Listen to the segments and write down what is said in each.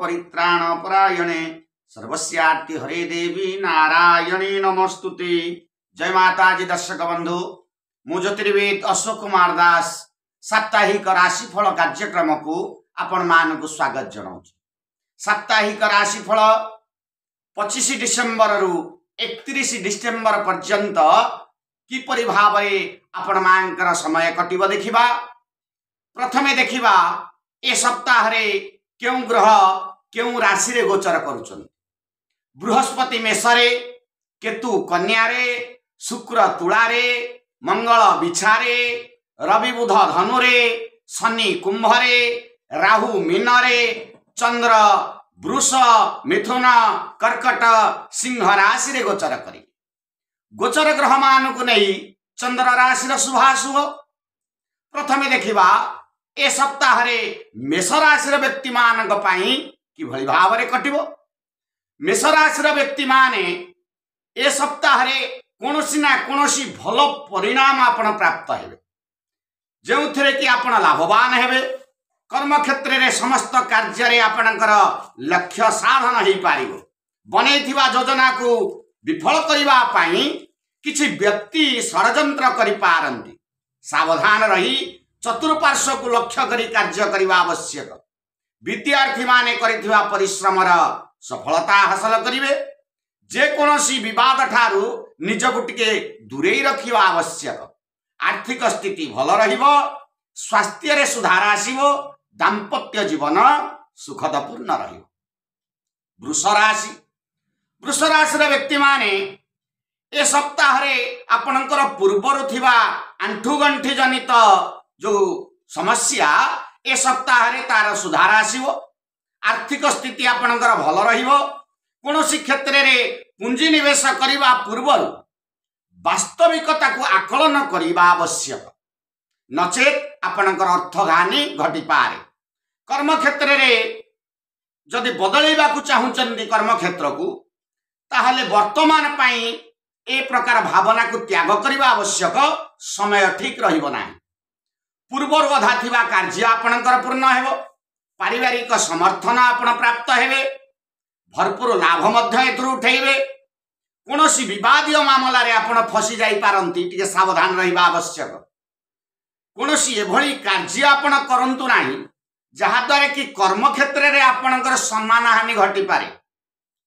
ପରିତ୍ରାଣ ପରାୟଣେ ସର୍ବସ୍ୟାର୍ତି ହରେ ଦେବୀ ନାରାୟଣୀ ନମସ୍ତୁତେ। ଜୟ ମାତାଜୀ। ଦର୍ଶକ ବନ୍ଧୁ, ମୁଁ ଜ୍ୟୋତିର୍ବିଦ ଅଶୋକ କୁମାର ଦାସ ସାପ୍ତାହିକ ରାଶିଫଳ କାର୍ଯ୍ୟକ୍ରମକୁ ଆପଣମାନଙ୍କୁ ସ୍ୱାଗତ ଜଣାଉଛି। ସାପ୍ତାହିକ ରାଶିଫଳ 25 ଡିସେମ୍ବରରୁ 31 ଡିସେମ୍ବର ପର୍ଯ୍ୟନ୍ତ କିପରି ଭାବରେ ଆପଣମାନଙ୍କର ସମୟ କଟିବ ଦେଖିବା। ପ୍ରଥମେ ଦେଖିବା ଏ ସପ୍ତାହରେ କେଉଁ ଗ୍ରହ କେଉଁ ରାଶିରେ ଗୋଚର କରୁଛନ୍ତି। ବୃହସ୍ପତି ମେଷରେ, କେତୁ କନ୍ୟାରେ, ଶୁକ୍ର ତୁଳାରେ, ମଙ୍ଗଳ ବିଛାରେ, ରବି ବୁଧ ଧନୁରେ, ଶନି କୁମ୍ଭରେ, ରାହୁ ମୀନରେ, ଚନ୍ଦ୍ର ବୃଷ, ମିଥୁନ, କର୍କଟ, ସିଂହ ରାଶିରେ ଗୋଚର କରିବେ। ଗୋଚର ଗ୍ରହମାନଙ୍କୁ ନେଇ ଚନ୍ଦ୍ର ରାଶିର ଶୁଭାଶୁଭ ପ୍ରଥମେ ଦେଖିବା। ଏ ସପ୍ତାହରେ ମେଷ ରାଶିର ବ୍ୟକ୍ତିମାନଙ୍କ ପାଇଁ କିଭଳି ଭାବରେ କଟିବ? ମେଷ ରାଶିର ବ୍ୟକ୍ତିମାନେ ଏ ସପ୍ତାହରେ କୌଣସି ନା କୌଣସି ଭଲ ପରିଣାମ ଆପଣ ପ୍ରାପ୍ତ ହେବେ, ଯେଉଁଥିରେ କି ଆପଣ ଲାଭବାନ ହେବେ। କର୍ମକ୍ଷେତ୍ରରେ ସମସ୍ତ କାର୍ଯ୍ୟରେ ଆପଣଙ୍କର ଲକ୍ଷ୍ୟ ସାଧନ ହେଇପାରିବ। ବନେଇଥିବା ଯୋଜନାକୁ ବିଫଳ କରିବା ପାଇଁ କିଛି ବ୍ୟକ୍ତି ଷଡ଼ଯନ୍ତ୍ର କରିପାରନ୍ତି। ସାବଧାନ ରହି ଚତୁଃପାର୍ଶ୍ୱକୁ ଲକ୍ଷ୍ୟ କରି କାର୍ଯ୍ୟ କରିବା ଆବଶ୍ୟକ। ବିଦ୍ୟାର୍ଥୀମାନେ କରିଥିବା ପରିଶ୍ରମର ସଫଳତା ହାସଲ କରିବେ। ଯେକୌଣସି ବିବାଦ ଠାରୁ ନିଜକୁ ଟିକେ ଦୂରେଇ ରଖିବା ଆବଶ୍ୟକ। ଆର୍ଥିକ ସ୍ଥିତି ଭଲ ରହିବ, ସ୍ୱାସ୍ଥ୍ୟରେ ସୁଧାର ଆସିବ, ଦାମ୍ପତ୍ୟ ଜୀବନ ସୁଖଦପୂର୍ଣ୍ଣ ରହିବ। ବୃଷ ରାଶି। ବୃଷ ରାଶିର ବ୍ୟକ୍ତିମାନେ ଏ ସପ୍ତାହରେ ଆପଣଙ୍କର ପୂର୍ବରୁ ଥିବା ଆଣ୍ଠୁଗଣ୍ଠି ଜନିତ ଯୋଉ ସମସ୍ୟା, ଏ ସପ୍ତାହରେ ତାର ସୁଧାର ଆସିବ। ଆର୍ଥିକ ସ୍ଥିତି ଆପଣଙ୍କର ଭଲ ରହିବ। କୌଣସି କ୍ଷେତ୍ରରେ ପୁଞ୍ଜି ନିବେଶ କରିବା ପୂର୍ବରୁ ବାସ୍ତବିକତାକୁ ଆକଳନ କରିବା ଆବଶ୍ୟକ, ନଚେତ୍ ଆପଣଙ୍କର ଅର୍ଥହାନି ଘଟିପାରେ। କର୍ମକ୍ଷେତ୍ରରେ ଯଦି ବଦଳେଇବାକୁ ଚାହୁଁଛନ୍ତି କର୍ମକ୍ଷେତ୍ରକୁ, ତାହେଲେ ବର୍ତ୍ତମାନ ପାଇଁ ଏ ପ୍ରକାର ଭାବନାକୁ ତ୍ୟାଗ କରିବା ଆବଶ୍ୟକ। ସମୟ ଠିକ ରହିବ ନାହିଁ। ପୂର୍ବରୁ ଅଧା ଥିବା କାର୍ଯ୍ୟ ଆପଣଙ୍କର ପୂର୍ଣ୍ଣ ହେବ। ପାରିବାରିକ ସମର୍ଥନ ଆପଣ ପ୍ରାପ୍ତ ହେବେ। ଭରପୁର ଲାଭ ମଧ୍ୟ ଏଥିରୁ ଉଠେଇବେ। କୌଣସି ବିବାଦୀୟ ମାମଲାରେ ଆପଣ ଫସି ଯାଇପାରନ୍ତି, ଟିକେ ସାବଧାନ ରହିବା ଆବଶ୍ୟକ। କୌଣସି ଏଭଳି କାର୍ଯ୍ୟ ଆପଣ କରନ୍ତୁ ନାହିଁ ଯାହାଦ୍ୱାରା କି କର୍ମକ୍ଷେତ୍ରରେ ଆପଣଙ୍କର ସମ୍ମାନହାନି ଘଟିପାରେ।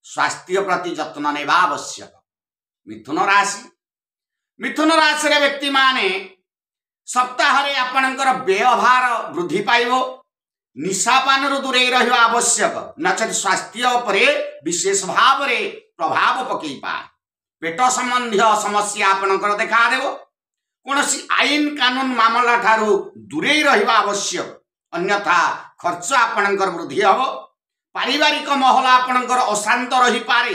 ସ୍ୱାସ୍ଥ୍ୟ ପ୍ରତି ଯତ୍ନ ନେବା ଆବଶ୍ୟକ। ମିଥୁନ ରାଶି। ମିଥୁନ ରାଶିର ବ୍ୟକ୍ତିମାନେ ସପ୍ତାହରେ ଆପଣଙ୍କର ବ୍ୟୟଭାର ବୃଦ୍ଧି ପାଇବ। ନିଶାପାନରୁ ଦୂରେଇ ରହିବା ଆବଶ୍ୟକ, ନଚେତ୍ ସ୍ୱାସ୍ଥ୍ୟ ଉପରେ ବିଶେଷ ଭାବରେ ପ୍ରଭାବ ପକେଇପାରେ। ପେଟ ସମ୍ବନ୍ଧୀୟ ସମସ୍ୟା ଆପଣଙ୍କର ଦେଖାଦେବ। କୌଣସି ଆଇନ କାନୁନ ମାମଲା ଠାରୁ ଦୂରେଇ ରହିବା ଆବଶ୍ୟକ, ଅନ୍ୟଥା ଖର୍ଚ୍ଚ ଆପଣଙ୍କର ବୃଦ୍ଧି ହେବ। ପାରିବାରିକ ମହଲ ଆପଣଙ୍କର ଅଶାନ୍ତ ରହିପାରେ।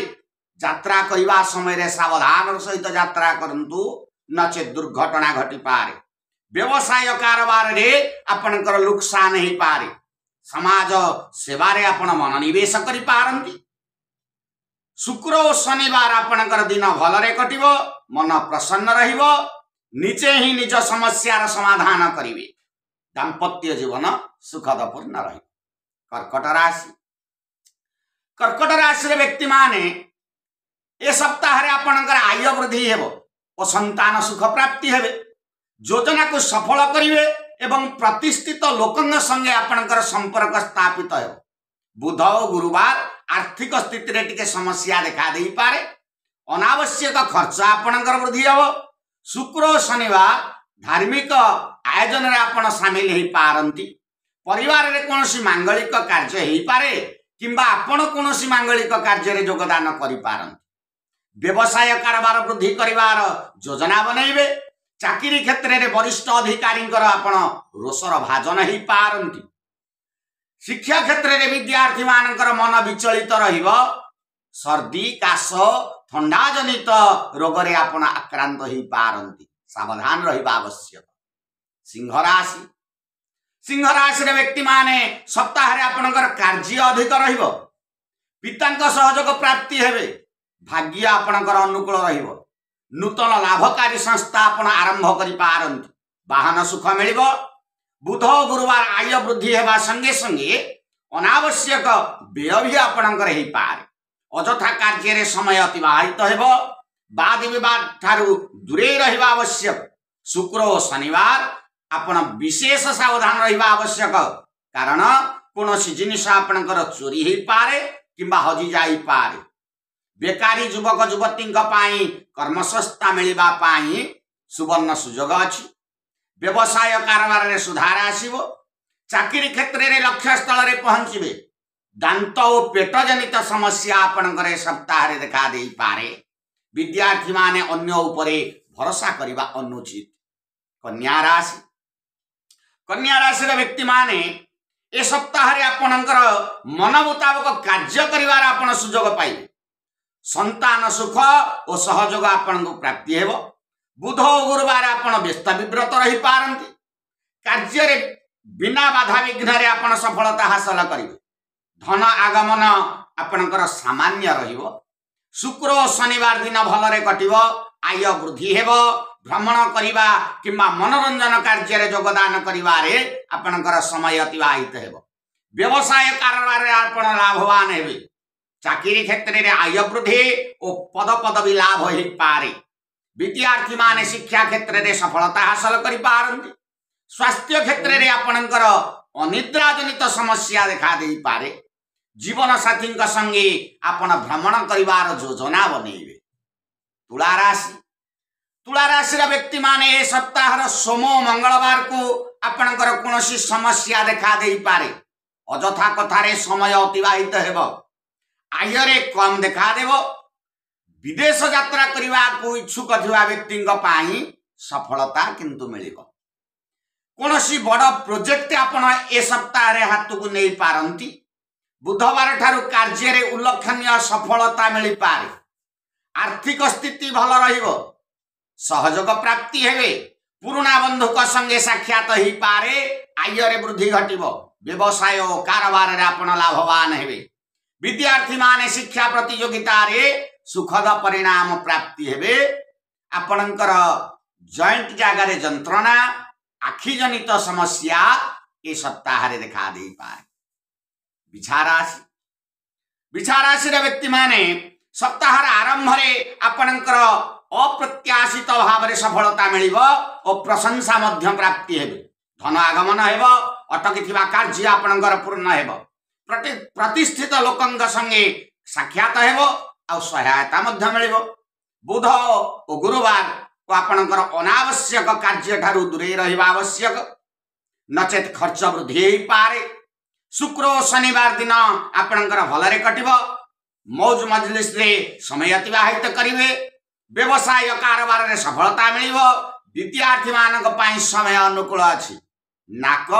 ଯାତ୍ରା କରିବା ସମୟରେ ସାବଧାନର ସହିତ ଯାତ୍ରା କରନ୍ତୁ, ନଚେତ୍ ଦୁର୍ଘଟଣା ଘଟିପାରେ। ବ୍ୟବସାୟ କାରବାରରେ ଆପଣଙ୍କର ଲୋକସାନ ହେଇପାରେ। ସମାଜ ସେବାରେ ଆପଣ ମନୋନିବେଶ କରିପାରନ୍ତି। ଶୁକ୍ର ଓ ଶନିବାର ଆପଣଙ୍କର ଦିନ ଭଲରେ କଟିବ, ମନ ପ୍ରସନ୍ନ ରହିବ, ନିଜେ ହିଁ ନିଜ ସମସ୍ୟାର ସମାଧାନ କରିବେ। ଦାମ୍ପତ୍ୟ ଜୀବନ ସୁଖଦପୂର୍ଣ୍ଣ ରହିବ। କର୍କଟ ରାଶି। କର୍କଟ ରାଶିର ବ୍ୟକ୍ତିମାନେ ଏ ସପ୍ତାହରେ ଆପଣଙ୍କର ଆୟ ବୃଦ୍ଧି ହେବ ଓ ସନ୍ତାନ ସୁଖ ପ୍ରାପ୍ତି ହେବେ। ଯୋଜନାକୁ ସଫଳ କରିବେ ଏବଂ ପ୍ରତିଷ୍ଠିତ ଲୋକଙ୍କ ସଙ୍ଗେ ଆପଣଙ୍କର ସମ୍ପର୍କ ସ୍ଥାପିତ ହେବ। ବୁଧ ଓ ଗୁରୁବାର ଆର୍ଥିକ ସ୍ଥିତିରେ ଟିକେ ସମସ୍ୟା ଦେଖା ଦେଇପାରେ। ଅନାବଶ୍ୟକ ଖର୍ଚ୍ଚ ଆପଣଙ୍କର ବୃଦ୍ଧି ହେବ। ଶୁକ୍ର ଓ ଶନିବାର ଧାର୍ମିକ ଆୟୋଜନରେ ଆପଣ ସାମିଲ ହେଇପାରନ୍ତି। ପରିବାରରେ କୌଣସି ମାଙ୍ଗଳିକ କାର୍ଯ୍ୟ ହେଇପାରେ କିମ୍ବା ଆପଣ କୌଣସି ମାଙ୍ଗଳିକ କାର୍ଯ୍ୟରେ ଯୋଗଦାନ କରିପାରନ୍ତି। ବ୍ୟବସାୟ କାରବାର ବୃଦ୍ଧି କରିବାର ଯୋଜନା ବନେଇବେ। ଚାକିରି କ୍ଷେତ୍ରରେ ବରିଷ୍ଠ ଅଧିକାରୀଙ୍କର ଆପଣ ରୋଷର ଭାଜନ ହେଇପାରନ୍ତି। ଶିକ୍ଷା କ୍ଷେତ୍ରରେ ବିଦ୍ୟାର୍ଥୀମାନଙ୍କର ମନ ବିଚଳିତ ରହିବ। ସର୍ଦ୍ଦି, କାଶ, ଥଣ୍ଡା ଜନିତ ରୋଗରେ ଆପଣ ଆକ୍ରାନ୍ତ ହେଇପାରନ୍ତି। ସାବଧାନ ରହିବା ଆବଶ୍ୟକ। ସିଂହ ରାଶି। ସିଂହ ରାଶିର ବ୍ୟକ୍ତିମାନେ ସପ୍ତାହରେ ଆପଣଙ୍କର କାର୍ଯ୍ୟ ଅଧିକ ରହିବ। ପିତାଙ୍କ ସହଯୋଗ ପ୍ରାପ୍ତି ହେବେ। ଭାଗ୍ୟ ଆପଣଙ୍କର ଅନୁକୂଳ ରହିବ। ନୂତନ ଲାଭକାରୀ ସଂସ୍ଥା ଆପଣ ଆରମ୍ଭ କରିପାରନ୍ତି। ବାହନ ସୁଖ ମିଳିବ। ବୁଧ ଓ ଗୁରୁବାର ଆୟ ବୃଦ୍ଧି ହେବା ସଙ୍ଗେ ସଙ୍ଗେ ଅନାବଶ୍ୟକ ବ୍ୟୟ ବି ଆପଣଙ୍କର ହେଇପାରେ। ଅଯଥା କାର୍ଯ୍ୟରେ ସମୟ ଅତିବାହିତ ହେବ। ବାଦ ବିବାଦ ଠାରୁ ଦୂରେଇ ରହିବା ଆବଶ୍ୟକ। ଶୁକ୍ର ଓ ଶନିବାର ଆପଣ ବିଶେଷ ସାବଧାନ ରହିବା ଆବଶ୍ୟକ, କାରଣ କୌଣସି ଜିନିଷ ଆପଣଙ୍କର ଚୋରି ହେଇପାରେ କିମ୍ବା ହଜି ଯାଇପାରେ। ବେକାରୀ ଯୁବକ ଯୁବତୀଙ୍କ ପାଇଁ କର୍ମସଂସ୍ଥା ମିଳିବା ପାଇଁ ସୁବର୍ଣ୍ଣ ସୁଯୋଗ ଅଛି। ବ୍ୟବସାୟ କାରବାରରେ ସୁଧାର ଆସିବ। ଚାକିରି କ୍ଷେତ୍ରରେ ଲକ୍ଷ୍ୟସ୍ଥଳରେ ପହଞ୍ଚିବେ। ଦାନ୍ତ ଓ ପେଟ ଜନିତ ସମସ୍ୟା ଆପଣଙ୍କର ଏ ସପ୍ତାହରେ ଦେଖା ଦେଇପାରେ। ବିଦ୍ୟାର୍ଥୀମାନେ ଅନ୍ୟ ଉପରେ ଭରସା କରିବା ଅନୁଚିତ। କନ୍ୟା ରାଶି, କନ୍ୟା ରାଶିର ବ୍ୟକ୍ତିମାନେ ଏ ସପ୍ତାହରେ ଆପଣଙ୍କର ମନ ମୁତାବକ କାର୍ଯ୍ୟ କରିବାର ଆପଣ ସୁଯୋଗ ପାଇବେ। ସନ୍ତାନ ସୁଖ ଓ ସହଯୋଗ ଆପଣଙ୍କୁ ପ୍ରାପ୍ତି ହେବ। ବୁଧ ଓ ଗୁରୁବାର ଆପଣ ବ୍ୟସ୍ତ ବିବ୍ରତ ରହିପାରନ୍ତି। କାର୍ଯ୍ୟରେ ବିନା ବାଧାବିଘ୍ନରେ ଆପଣ ସଫଳତା ହାସଲ କରିବେ। ଧନ ଆଗମନ ଆପଣଙ୍କର ସାମାନ୍ୟ ରହିବ। ଶୁକ୍ର ଓ ଶନିବାର ଦିନ ଭଲରେ କଟିବ। ଆୟ ବୃଦ୍ଧି ହେବ। ଭ୍ରମଣ କରିବା କିମ୍ବା ମନୋରଞ୍ଜନ କାର୍ଯ୍ୟରେ ଯୋଗଦାନ କରିବାରେ ଆପଣଙ୍କର ସମୟ ଅତିବାହିତ ହେବ। ବ୍ୟବସାୟ କାରବାରରେ ଆପଣ ଲାଭବାନ ହେବେ। ଚାକିରି କ୍ଷେତ୍ରରେ ଆୟ ବୃଦ୍ଧି ଓ ପଦପଦବୀ ଲାଭ ହୋଇପାରେ। ବିଦ୍ୟାର୍ଥୀମାନେ ଶିକ୍ଷା କ୍ଷେତ୍ରରେ ସଫଳତା ହାସଲ କରିପାରନ୍ତି। ସ୍ୱାସ୍ଥ୍ୟ କ୍ଷେତ୍ରରେ ଆପଣଙ୍କର ଅନିଦ୍ରା ଜନିତ ସମସ୍ୟା ଦେଖା ଦେଇପାରେ। ଜୀବନ ସାଥୀଙ୍କ ସଙ୍ଗେ ଆପଣ ଭ୍ରମଣ କରିବାର ଯୋଜନା ବନେଇବେ। ତୁଳା ରାଶି, ତୁଳା ରାଶିର ବ୍ୟକ୍ତିମାନେ ଏ ସପ୍ତାହର ସୋମ ମଙ୍ଗଳବାରକୁ ଆପଣଙ୍କର କୌଣସି ସମସ୍ୟା ଦେଖା ଦେଇପାରେ। ଅଯଥା କଥାରେ ସମୟ ଅତିବାହିତ ହେବ। ଆୟରେ କମ ଦେଖାଦେବ। ବିଦେଶ ଯାତ୍ରା କରିବାକୁ ଇଚ୍ଛୁକ ଥିବା ବ୍ୟକ୍ତିଙ୍କ ପାଇଁ ସଫଳତା କିନ୍ତୁ ମିଳିବ। କୌଣସି ବଡ଼ ପ୍ରୋଜେକ୍ଟ ଆପଣ ଏ ସପ୍ତାହରେ ହାତକୁ ନେଇପାରନ୍ତି। ବୁଧବାର ଠାରୁ କାର୍ଯ୍ୟରେ ଉଲ୍ଲେଖନୀୟ ସଫଳତା ମିଳିପାରେ। ଆର୍ଥିକ ସ୍ଥିତି ଭଲ ରହିବ। ସହଯୋଗ ପ୍ରାପ୍ତି ହେବେ। ପୁରୁଣା ବନ୍ଧୁଙ୍କ ସଙ୍ଗେ ସାକ୍ଷାତ ହେଇପାରେ। ଆୟରେ ବୃଦ୍ଧି ଘଟିବ। ବ୍ୟବସାୟ ଓ କାରବାରରେ ଆପଣ ଲାଭବାନ ହେବେ। ବିଦ୍ୟାର୍ଥୀମାନେ ଶିକ୍ଷା ପ୍ରତିଯୋଗିତାରେ ସୁଖଦ ପରିଣାମ ପ୍ରାପ୍ତି ହେବେ। ଆପଣଙ୍କର ଜଏଣ୍ଟ ଜାଗାରେ ଯନ୍ତ୍ରଣା, ଆଖିଜନିତ ସମସ୍ୟା ଏ ସପ୍ତାହରେ ଦେଖା ଦେଇପାରେ। ବିଛା ରାଶି, ବିଛା ରାଶିର ବ୍ୟକ୍ତିମାନେ ସପ୍ତାହର ଆରମ୍ଭରେ ଆପଣଙ୍କର ଅପ୍ରତ୍ୟାଶିତ ଭାବରେ ସଫଳତା ମିଳିବ ଓ ପ୍ରଶଂସା ମଧ୍ୟ ପ୍ରାପ୍ତି ହେବେ। ଧନ ଆଗମନ ହେବ। ଅଟକିଥିବା କାର୍ଯ୍ୟ ଆପଣଙ୍କର ପୂର୍ଣ୍ଣ ହେବ। ପ୍ରତିଷ୍ଠିତ ଲୋକଙ୍କ ସଙ୍ଗେ ସାକ୍ଷାତ ହେବ ଆଉ ସହାୟତା ମଧ୍ୟ ମିଳିବ। ବୁଧ ଓ ଗୁରୁବାର ଆପଣଙ୍କର ଅନାବଶ୍ୟକ କାର୍ଯ୍ୟ ଠାରୁ ଦୂରେଇ ରହିବା ଆବଶ୍ୟକ, ନଚେତ ଖର୍ଚ୍ଚ ବୃଦ୍ଧି ହେଇପାରେ। ଶୁକ୍ର ଓ ଶନିବାର ଦିନ ଆପଣଙ୍କର ଭଲରେ କଟିବ। ମୌଜ ମଜଲିସରେ ସମୟ ଅତିବାହିତ କରିବେ। ବ୍ୟବସାୟ କାରବାରରେ ସଫଳତା ମିଳିବ। ବିଦ୍ୟାର୍ଥୀମାନଙ୍କ ପାଇଁ ସମୟ ଅନୁକୂଳ ଅଛି। ନାକ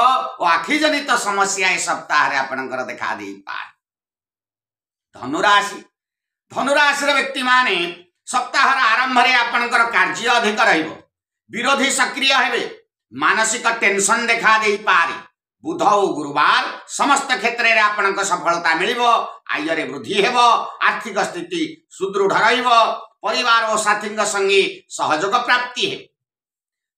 ଓ ଆଖିଜନିତ ସମସ୍ୟା ଏ ସପ୍ତାହରେ ଆପଣଙ୍କର ଦେଖା ଦେଇପାରେ। ଧନୁରାଶି, ଧନୁରାଶିର ବ୍ୟକ୍ତିମାନେ ସପ୍ତାହର ଆରମ୍ଭରେ ଆପଣଙ୍କର କାର୍ଯ୍ୟ ଅଧିକ ରହିବ। ବିରୋଧୀ ସକ୍ରିୟ ହେବେ। ମାନସିକ ଟେନସନ ଦେଖା ଦେଇପାରେ। ବୁଧ ଓ ଗୁରୁବାର ସମସ୍ତ କ୍ଷେତ୍ରରେ ଆପଣଙ୍କ ସଫଳତା ମିଳିବ। ଆୟରେ ବୃଦ୍ଧି ହେବ। ଆର୍ଥିକ ସ୍ଥିତି ସୁଦୃଢ଼ ରହିବ। ପରିବାର ଓ ସାଥୀଙ୍କ ସଙ୍ଗେ ସହଯୋଗ ପ୍ରାପ୍ତି ହେବ।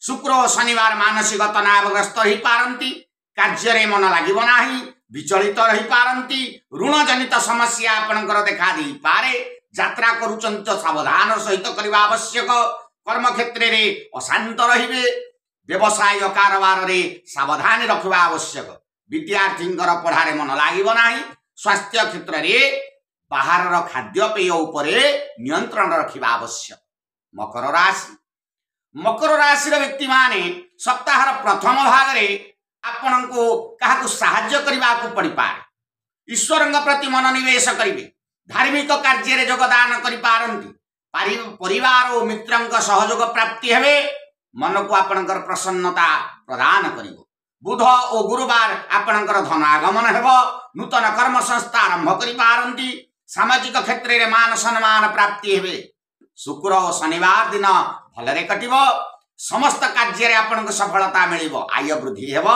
ଶୁକ୍ର ଓ ଶନିବାର ମାନସିକ ତନାବଗ୍ରସ୍ତ ହୋଇପାରନ୍ତି। କାର୍ଯ୍ୟରେ ମନ ଲାଗିବ ନାହିଁ, ବିଚଳିତ ରହିପାରନ୍ତି। ଋଣ ଜନିତ ସମସ୍ୟା ଆପଣଙ୍କର ଦେଖା ଦେଇପାରେ। ଯାତ୍ରା କରୁଛନ୍ତି ତ ସାବଧାନ ସହିତ କରିବା ଆବଶ୍ୟକ। କର୍ମକ୍ଷେତ୍ରରେ ଅଶାନ୍ତ ରହିବେ। ବ୍ୟବସାୟ କାରବାରରେ ସାବଧାନ ରଖିବା ଆବଶ୍ୟକ। ବିଦ୍ୟାର୍ଥୀଙ୍କର ପଢ଼ାରେ ମନ ଲାଗିବ ନାହିଁ। ସ୍ୱାସ୍ଥ୍ୟ କ୍ଷେତ୍ରରେ ବାହାରର ଖାଦ୍ୟପେୟ ଉପରେ ନିୟନ୍ତ୍ରଣ ରଖିବା ଆବଶ୍ୟକ। ମକର ରାଶି, ମକର ରାଶିର ବ୍ୟକ୍ତିମାନେ ସପ୍ତାହର ପ୍ରଥମ ଭାଗରେ ଆପଣଙ୍କୁ କାହାକୁ ସାହାଯ୍ୟ କରିବାକୁ ପଡ଼ିପାରେ। ଈଶ୍ୱରଙ୍କ ପ୍ରତି ମନୋନିବେଶ କରିବେ। ଧାର୍ମିକ କାର୍ଯ୍ୟରେ ଯୋଗଦାନ କରିପାରନ୍ତି। ପରିବାର ଓ ମିତ୍ରଙ୍କ ସହଯୋଗ ପ୍ରାପ୍ତି ହେବେ। ମନକୁ ଆପଣଙ୍କର ପ୍ରସନ୍ନତା ପ୍ରଦାନ କରିବ। ବୁଧ ଓ ଗୁରୁବାର ଆପଣଙ୍କର ଧନ ଆଗମନ ହେବ। ନୂତନ କର୍ମ ସଂସ୍ଥା ଆରମ୍ଭ କରିପାରନ୍ତି। ସାମାଜିକ କ୍ଷେତ୍ରରେ ମାନ ସମ୍ମାନ ପ୍ରାପ୍ତି ହେବେ। ଶୁକ୍ର ଓ ଶନିବାର ଦିନ ଭଲରେ କଟିବ। ସମସ୍ତ କାର୍ଯ୍ୟରେ ଆପଣଙ୍କୁ ସଫଳତା ମିଳିବ। ଆୟ ବୃଦ୍ଧି ହେବ।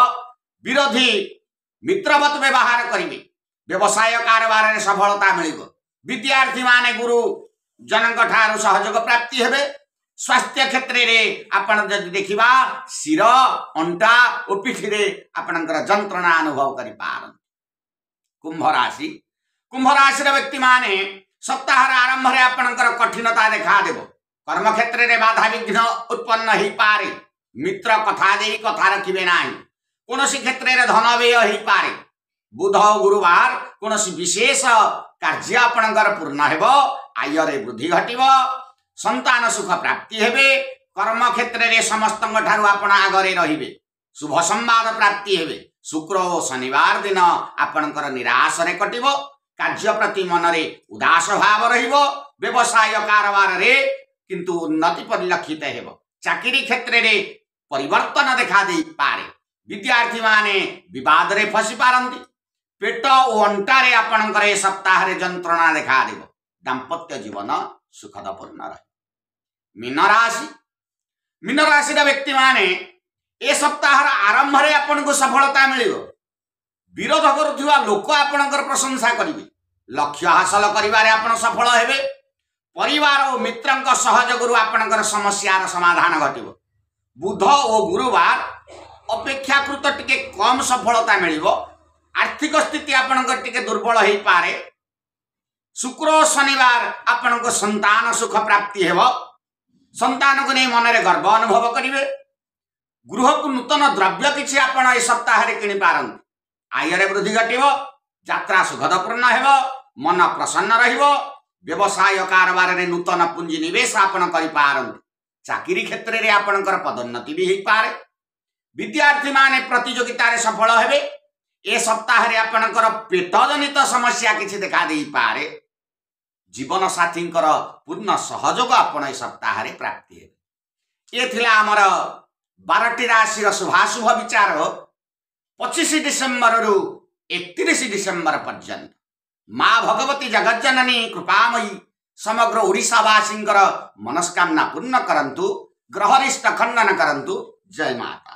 ବିରୋଧୀ ମିତ୍ରବତ ବ୍ୟବହାର କରିବେ। ବ୍ୟବସାୟ କାରବାରରେ ସଫଳତା ମିଳିବ। ବିଦ୍ୟାର୍ଥୀମାନେ ଗୁରୁ ଜନଙ୍କ ଠାରୁ ସହଯୋଗ ପ୍ରାପ୍ତି ହେବେ। ସ୍ୱାସ୍ଥ୍ୟ କ୍ଷେତ୍ରରେ ଆପଣ ଯଦି ଦେଖିବା, ଶିର, ଅଣ୍ଟା ଓ ପିଠିରେ ଆପଣଙ୍କର ଯନ୍ତ୍ରଣା ଅନୁଭବ କରିପାରନ୍ତି। କୁମ୍ଭ ରାଶି। କୁମ୍ଭ ରାଶିର ବ୍ୟକ୍ତିମାନେ ସପ୍ତାହର ଆରମ୍ଭରେ ଆପଣଙ୍କର କଠିନତା ଦେଖାଦେବ। କର୍ମକ୍ଷେତ୍ରରେ ବାଧାବିଘ୍ନ ଉତ୍ପନ୍ନ ହେଇପାରେ। ମିତ୍ର କଥା ଦେଇ କଥା ରଖିବେ ନାହିଁ। କୌଣସି କ୍ଷେତ୍ରରେ ଧନ ବ୍ୟୟ ହେଇପାରେ। ବୁଧ ଓ ଗୁରୁବାର କୌଣସି ବିଶେଷ କାର୍ଯ୍ୟ ଆପଣଙ୍କର ପୂର୍ଣ୍ଣ ହେବ। ଆୟରେ ବୃଦ୍ଧି ଘଟିବ। ସନ୍ତାନ ସୁଖ ପ୍ରାପ୍ତି ହେବେ। କର୍ମକ୍ଷେତ୍ରରେ ସମସ୍ତଙ୍କ ଠାରୁ ଆପଣ ଆଗରେ ରହିବେ। ଶୁଭ ସମ୍ବାଦ ପ୍ରାପ୍ତି ହେବେ। ଶୁକ୍ର ଓ ଶନିବାର ଦିନ ଆପଣଙ୍କର ନିରାଶରେ କଟିବ। କାର୍ଯ୍ୟ ପ୍ରତି ମନରେ ଉଦାସ ଭାବ ରହିବ। ବ୍ୟବସାୟ କାରବାରରେ କିନ୍ତୁ ଉନ୍ନତି ପରିଲକ୍ଷିତ ହେବ। ଚାକିରି କ୍ଷେତ୍ରରେ ପରିବର୍ତ୍ତନ ଦେଖା ଦେଇପାରେ। ବିଦ୍ୟାର୍ଥୀମାନେ ବିବାଦରେ ଫସି ପାରନ୍ତି। ପେଟ ଓ ଅଣ୍ଟାରେ ଆପଣଙ୍କର ଏ ସପ୍ତାହରେ ଯନ୍ତ୍ରଣା ଦେଖାଦେବ। ଦାମ୍ପତ୍ୟ ଜୀବନ ସୁଖଦପୂର୍ଣ୍ଣ ରହେ। ମୀନ ରାଶି। ମୀନ ରାଶିର ବ୍ୟକ୍ତିମାନେ ଏ ସପ୍ତାହର ଆରମ୍ଭରେ ଆପଣଙ୍କୁ ସଫଳତା ମିଳିବ। ବିରୋଧ କରୁଥିବା ଲୋକ ଆପଣଙ୍କର ପ୍ରଶଂସା କରିବେ। ଲକ୍ଷ୍ୟ ହାସଲ କରିବାରେ ଆପଣ ସଫଳ ହେବେ। ପରିବାର ଓ ମିତ୍ରଙ୍କ ସହଯୋଗରୁ ଆପଣଙ୍କର ସମସ୍ୟାର ସମାଧାନ ଘଟିବ। ବୁଧ ଓ ଗୁରୁବାର ଅପେକ୍ଷାକୃତ ଟିକେ କମ ସଫଳତା ମିଳିବ। ଆର୍ଥିକ ସ୍ଥିତି ଆପଣଙ୍କର ଟିକେ ଦୁର୍ବଳ ହେଇପାରେ। ଶୁକ୍ର ଓ ଶନିବାର ଆପଣଙ୍କ ସନ୍ତାନ ସୁଖ ପ୍ରାପ୍ତି ହେବ। ସନ୍ତାନକୁ ନେଇ ମନରେ ଗର୍ବ ଅନୁଭବ କରିବେ। ଗୃହକୁ ନୂତନ ଦ୍ରବ୍ୟ କିଛି ଆପଣ ଏ ସପ୍ତାହରେ କିଣିପାରନ୍ତି। ଆୟରେ ବୃଦ୍ଧି ଘଟିବ। ଯାତ୍ରା ସୁଖଦପୂର୍ଣ୍ଣ ହେବ। ମନ ପ୍ରସନ୍ନ ରହିବ। ବ୍ୟବସାୟ କାରବାରରେ ନୂତନ ପୁଞ୍ଜି ନିବେଶ ଆପଣ କରିପାରନ୍ତି। ଚାକିରି କ୍ଷେତ୍ରରେ ଆପଣଙ୍କର ପଦୋନ୍ନତି ବି ହେଇପାରେ। ବିଦ୍ୟାର୍ଥୀମାନେ ପ୍ରତିଯୋଗିତାରେ ସଫଳ ହେବେ। ଏ ସପ୍ତାହରେ ଆପଣଙ୍କର ପେଟ ଜନିତ ସମସ୍ୟା କିଛି ଦେଖା ଦେଇପାରେ। ଜୀବନ ସାଥୀଙ୍କର ପୂର୍ଣ୍ଣ ସହଯୋଗ ଆପଣ ଏ ସପ୍ତାହରେ ପ୍ରାପ୍ତି ହେବେ। ଏ ଥିଲା ଆମର 12ଟି ରାଶିର ଶୁଭାଶୁଭ ବିଚାର 25 ଡିସେମ୍ବରରୁ 31 ଡିସେମ୍ବର ପର୍ଯ୍ୟନ୍ତ। ମା ଭଗବତୀ ଜଗଜ୍ଜନନୀ କୃପାମୟୀ ସମଗ୍ର ଓଡ଼ିଶାବାସୀଙ୍କର ମନସ୍କାମନା ପୂର୍ଣ୍ଣ କରନ୍ତୁ, ଗ୍ରହରିଷ୍ଟ ଖଣ୍ଡନ କରନ୍ତୁ। ଜୟ ମାତା।